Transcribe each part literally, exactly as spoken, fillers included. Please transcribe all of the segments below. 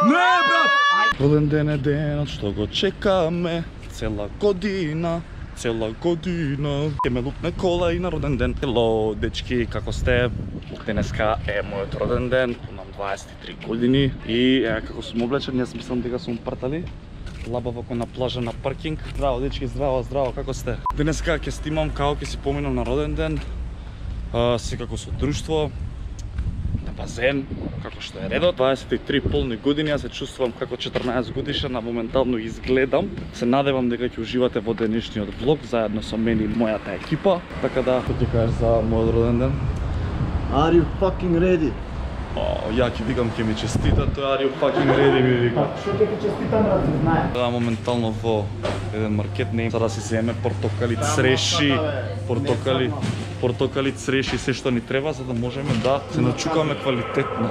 Не, брат! Роден ден е денот што го чекаме цела година, цела година. Ке ме лупне кола и на роден ден. Хело, дечки, како сте? Денеска е мојот роден ден, имам дваесет и три години и е, како сум облечен, јас мислам дека сум партали. Лабаво ко на плажа на паркинг. Здраво, дечки, здраво, здраво, како сте? Денеска ќе снимам како ќе си поминам на роден ден. А, секако со друштво, на базен, како што е редот. дваесет и три полни години, јас се чувствувам како четрнаесет годишен, а моментално изгледам. Се надевам дека ќе уживате во денешниот влог, заедно со мене и мојата екипа. Така да, што ти кажеш за мојот роден ден? Are you fucking ready? О, ја ќе викам ќе ми честита, тој are you fucking ready ми вика. Што ќе ти честитам, брат, знае. Да, моментално во еден маркет не за да си земе портокали, цреши, портокали, портокали, цреши, се што ни треба за да можеме да се начукаме квалитетно.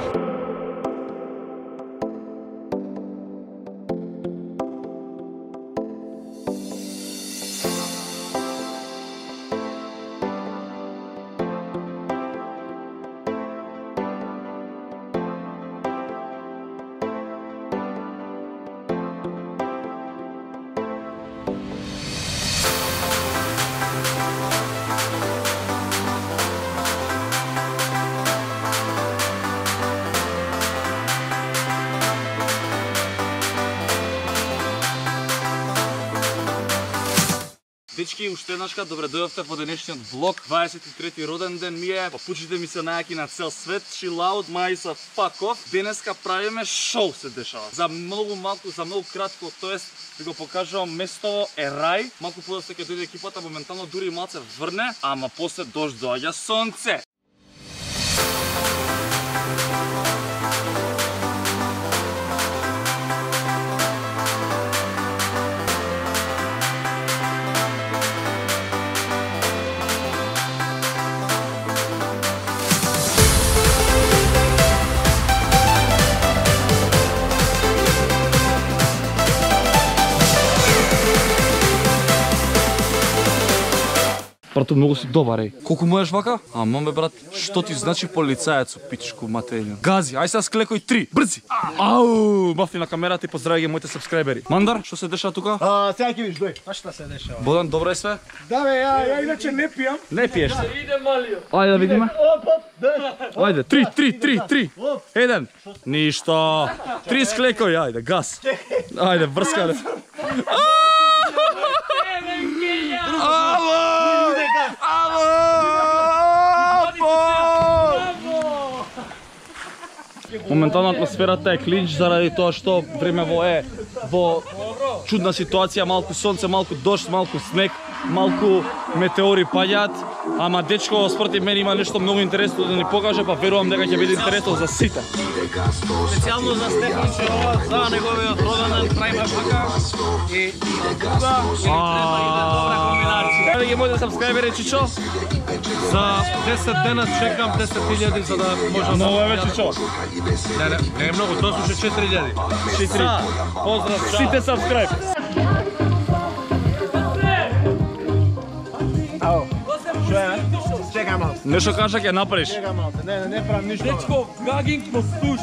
Дечки, уште еднашка, добре дојавте во денешниот влог. дваесет и трети роден ден ми е. Папучите ми се најаки на цел свет. Chill out, мајса, fuck off. Денеска правиме шоу се дешава. За многу малку, за многу кратко, тоест да го покажувам место е рај. Малку подоста ќе дојде екипата, моментално дури и малце врне, ама после дожд доаѓа сонце. Брато, многу си добар, еј. Колку можеш вака? А, маме, брат, што ти значи полицаец, пичку материња? Гази, ај сега склekој три, брзи! Ау, мафти на камерата и поздрави ги моите сабскрајбери. Мандар, што се дешава тука? А, сега ќе видиш, дој. А што се дешава? Бодан, добро е све? Да бе, ја, ја иначе не пијам. Не пиеш се. Иде малио. Ајде да видиме. Оп, оп, дој. Ајде, три, три, три, три. Еден. Ништо. Три склekој, ајде, газ. Ајде, врскале. Ало! Ало! Моментално атмосферата е клинч заради тоа што времево е во чудна ситуација, малку сонце, малку дожд, малку снег, малку метеори паѓаат, ама дечко според мене има нешто многу интересно да ни покаже, па верувам дека ќе биде интересно за сите. Специјално за Стефанче ова, за неговиот роден ден правиме вака и тука ќе ни треба и да добра комбинација. Еве ги моите сабскрајбери, Чичо. За десет дена чекам десет илјади за да можам да... Ново е Чичо. Не, не, не е многу, тоа слуша четири илјади. Четири. Поздрав, чао. Сите сабскрајб. Ау. Што е? Чекам малку. Нешто кажа ќе направиш. Чекам малку. Не, не, не правам ништо. Дечко, гагинг по стуш.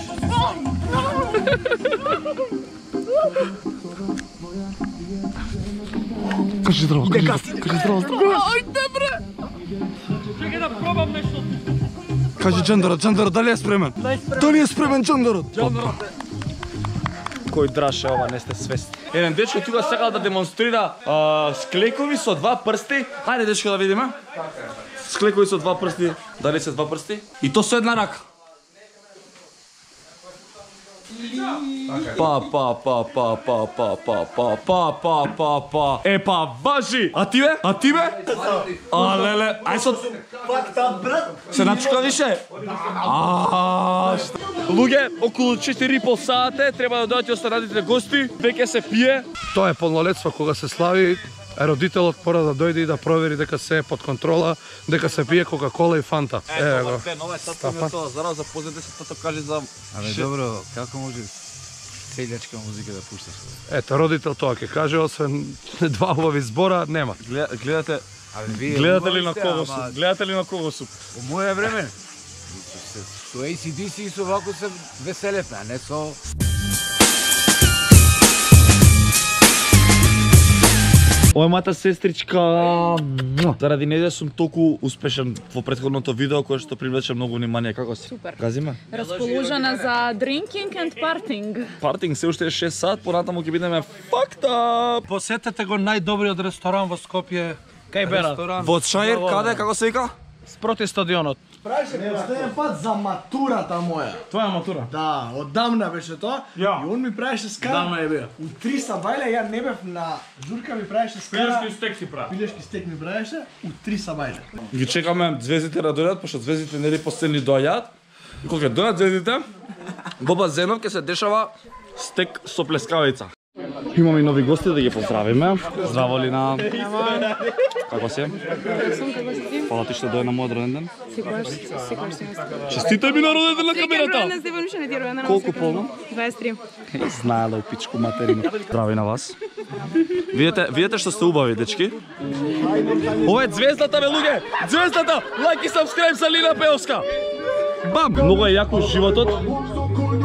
Кажи здраво, кажи здраво, здраво. Ајде бре! Чекај да пробам нешто. Кажи Джандорот, Джандорот, дали е спремен? Дали е спремен Джандорот? Кој драше ова, не сте свесни. Еден дечко тука сакал да демонстрира а, склекови со два прсти. Хајде дечко да видиме. Склекови со два прсти. Дали се два прсти? И то со една рака. Па, па, па, па, па, па, па, па, па, па, па, па. Е, па, важи! А ти бе? А ти бе? А, леле, ај со... Се начука више? А, луѓе, околу четири и пол сати треба да дојдат останатите гости. Веќе се пие. Тоа е полнолетство кога се слави. Родителот мора да дојде и да провери дека се е под контрола, дека се пие кока-кола и фанта. Е, го. Нова е сатка ми тоа, зараз запознате се тоа кажи за... Абе добро, како може селјачка музика да пушташ? Ето, родител тоа ќе каже, освен два убави збора, нема. Гледате, Абе вие гледате ли на уморите, кого ама сум? Гледате ли на кого сум? Во моје време со A C D C и со вако се веселевме, а не со Ова е мојата сестричка. Заради нејзе сум толку успешен во претходното видео кое што привлече многу внимание. Како си? Супер. Газиме? Расположена за drinking and partying. Партинг се уште е шест сат, понатаму ќе бидеме fucked up. Посетете го најдобриот ресторан во Скопје. Кај бера? Во Чаир, каде, како се вика? Спроти стадионот. Праше последен пат за матурата моја. Твоја матура? Да, оддамна беше тоа. Ја. И он ми правеше скара. Давна е беа. У три сабајле ја не бев на журка, ми правеше скара. Пилешки стек си прави. Пилешки стек ми правеше у три сабајле. Ги чекаме звездите да дојдат, пошто звездите нели последни доаѓаат. И кога ќе дојдат звездите, во базенов ќе се дешава стек со плескавица. Имаме и нови гости да ги поздравиме. Здраво Лина. Како си? Фала ти што дојде на мојот роден ден. Сигурно, сигурно си Честитай ми на роден ден на камерата. на Стефан ще не ти родена. Колку полно? дваесет и три. Знаела у пичку материна. Здрави на вас. Видете, видете што сте убави, дечки? Ова е звездата, бе, луѓе! Звездата! Лайк и сабскрайб за Лина Пеовска! Бам! Многу е јако животот,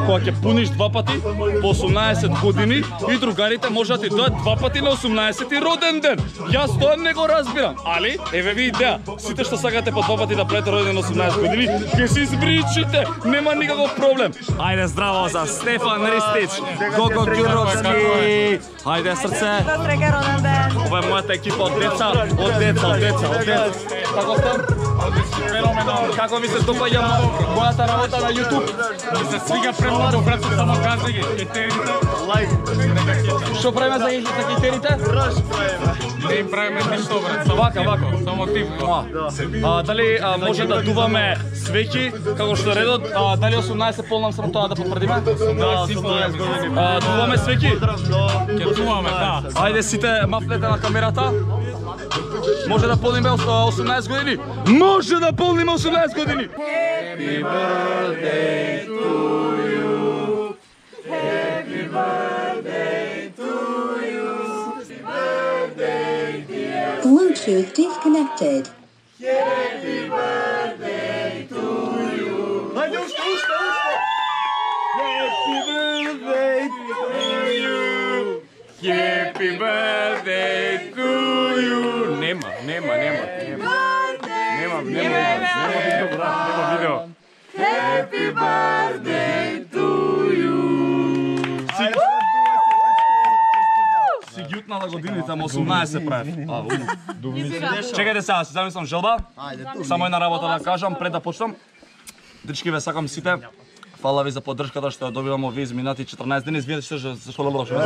кога ќе пуниш два пати по осумнаесет години и другарите можат да ти дојат два пати на осумнаесети роден ден. Јас тоа не го разбирам, али еве ви идеја. Сите што сакате по два пати да правите роден ден на осумнаесет години, ќе се избричите, нема никаков проблем. Ајде здраво за Стефан Ристич, Гого Ѓуровски. Ајде срце. Ова е мојата екипа од деца, од деца, од деца, од деца. Како сте? Феноменално. Како ви се допаѓа мојата работа на YouTube? Ми се свига премногу, брат, само каза ги. Кетерите. Што правиме за за китерите? Не им правиме ништо, брат. Само Вака, вака. Само тип. А, дали а, може да дуваме свеќи, како што е редот, а, дали осумнаесет полнам срам тоа да потврдиме? Да, осумнаесет години. А, дуваме свеќи? Ќе чуваме, да. Ајде сите мафнете на камерата. Може да полниме осумнаесет години? Може да полниме осумнаесет години! Happy birthday to you. Happy birthday to you. Happy birthday dear. Bluetooth disconnected. Happy birthday to you. Happy birthday to you. Happy birthday to you. Нема, нема, нема. Нема, нема, нема видео, брат, нема видео. Happy birthday to you. Си ги утнала годините, ама осумнаесет правев. А, у. Чекајте сега, си замислам желба. Само една работа да кажам пред да почнам. Дрички ве сакам сите. Фала ви за поддршката што ја добивам овие изминати четрнаесет дни. Извинете што зашто лобро што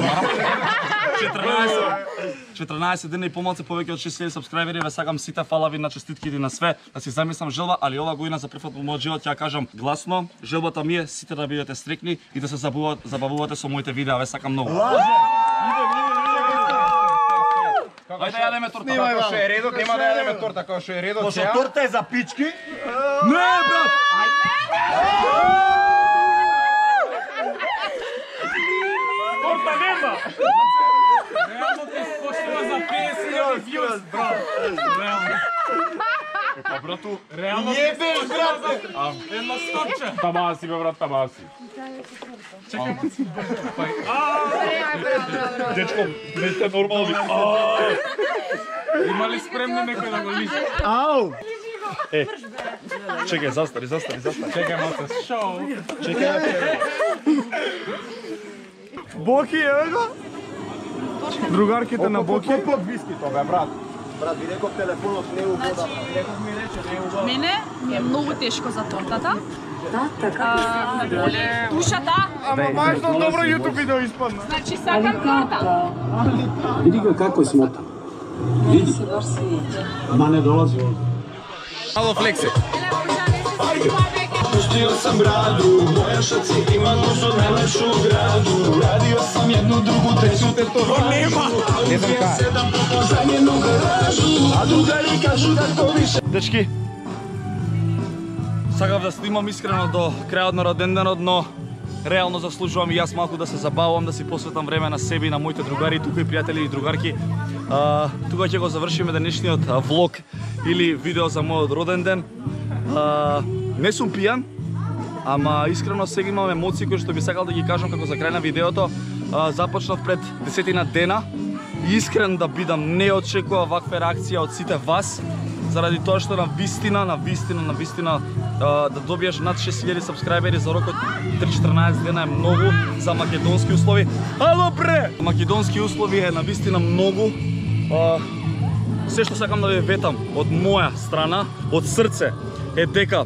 четрнаесет дни и помалку повеќе од шест илјади сабскрајбери. Ве сакам сите, фала ви на честитките на све. Да си замислам желба, али ова година за прв пат во мојот живот ќе ја кажам гласно. Желбата ми е сите да бидете стрекни и да се забавувате, забавувате со моите видеа. Ве сакам многу. Ајде да јадеме торта. Како што е редот, нема да јадеме торта, како што е редот. Пошто торта е за пички. Не, брат! Торта нема! Реално те споштува за петдесет илјади views, брат. Реално. Па брату, Реално те споштува за едно стопче. тама си бе брат, тама си. Дечко, не сте нормални. Има ли спремни некој да го лише? Ау! Е, чекај, застари, застари, застари. Чекај малце, шоу. Боки, еве го. Другарките на Боки. Под виски тоа, брат. Брат, ви реков телефонот не у вода. Реков ми рече не у вода. Мене е многу тешко за тортата. Да, така. Боли душата. Ама важно добро YouTube видео испадна. Значи сакам торта. Види го како смота. Види. Ма не долази. Ало флекси. Pustio sam bradu, moja šaci ima dušu najlepšu u gradu. Radio sam jednu drugu, treću tetovanu. Ne znam kaj. Sedam puta za njenu garažu, a drugari kažu da to više. Дечки, сакав да снимам искрено до крајот на роденденот, но реално заслужувам и јас малку да се забавувам, да си посветам време на себе и на моите другари, тука и пријатели и другарки. А, тука ќе го завршиме денешниот влог или видео за мојот роден ден. А, не сум пијан, ама искрено сега имам емоции кои што би сакал да ги кажам како за крај на видеото. А, започнав пред десетина дена искрен да бидам, не очекува ваква реакција од сите вас, заради тоа што на вистина, на вистина, на вистина да добиеш над шест илјади сабскрајбери за рокот три-четрнаесет дена е многу за македонски услови. Ало бре! Македонски услови е на вистина многу. Се што сакам да ви ветам од моја страна, од срце, е дека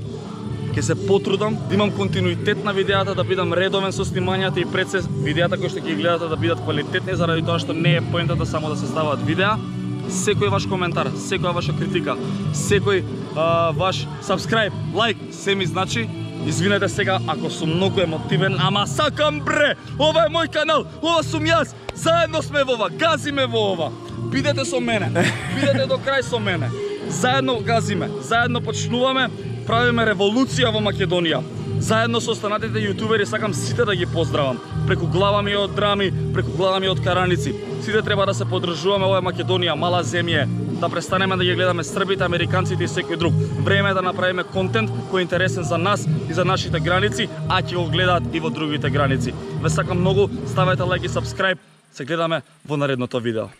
ќе се потрудам да имам континуитет на видеата, да бидам редовен со снимањата и пред се видеата кои што ќе гледате да бидат квалитетни, заради тоа што не е поентата само да се ставаат видеа. Секој ваш коментар, секоја ваша критика, секој а, ваш сабскрајб, лайк, се ми значи. Извинете сега ако сум многу емотивен, ама сакам бре! Ова е мој канал, ова сум јас, заедно сме во ова, газиме во ова. Бидете со мене, бидете до крај со мене. Заедно газиме, заедно почнуваме, правиме револуција во Македонија. Заедно со останатите јутубери сакам сите да ги поздравам. Преку глава ми од драми, преку глава ми од караници. Сите треба да се поддржуваме, ова е Македонија, мала земја. Да престанеме да ги гледаме србите, американците и секој друг. Време е да направиме контент кој е интересен за нас и за нашите граници, а ќе го гледаат и во другите граници. Ве сакам многу, ставете лайк и сабскрајб. Се гледаме во наредното видео.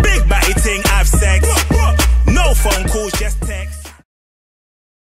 Big body thing, I've sex. No phone calls, just text.